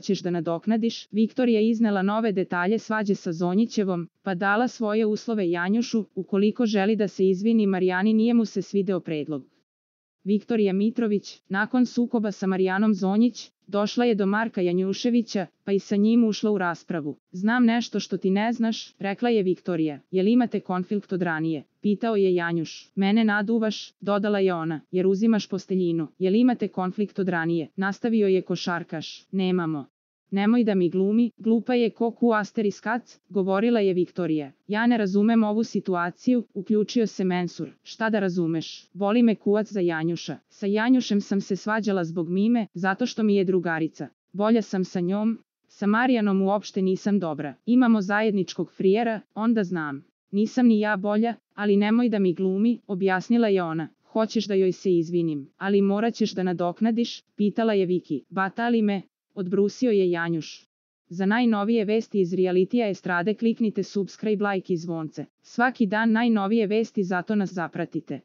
ćeš da nadoknadiš. Viktorija iznela nove detalje svađe sa Zonjićevom, pa dala svoje uslove Janjušu, ukoliko želi da se izvini Marijani. Nije mu se svideo predlog. Viktorija Mitrović, nakon sukoba sa Marijanom Zonjić, došla je do Marka Janjuševića, pa i sa njim ušla u raspravu. Znam nešto što ti ne znaš, rekla je Viktorija. Jel imate konflikt od ranije? Pitao je Janjuš. Mene naduvaš, dodala je ona, jer uzimaš posteljinu. Jel imate konflikt od ranije? Nastavio je košarkaš. Nemamo. Nemoj da mi glumi, glupa je ko ku asteriskac, govorila je Viktorija. Ja ne razumem ovu situaciju, uključio se Mensur. Šta da razumeš? Boli me kuvac za Janjuša. Sa Janjušem sam se svađala zbog Mime, zato što mi je drugarica. Bolja sam sa njom, sa Marijanom uopšte nisam dobra. Imamo zajedničkog frijera, onda znam. Nisam ni ja bolja, ali nemoj da mi glumi, objasnila je ona. Hoćeš da joj se izvinim, ali morat ćeš da nadoknadiš, pitala je Viki. Batali me, odbrusio je Janjuš. Za najnovije vesti iz realitija estrade kliknite subscribe, like i zvonce. Svaki dan najnovije vesti, zato nas zapratite.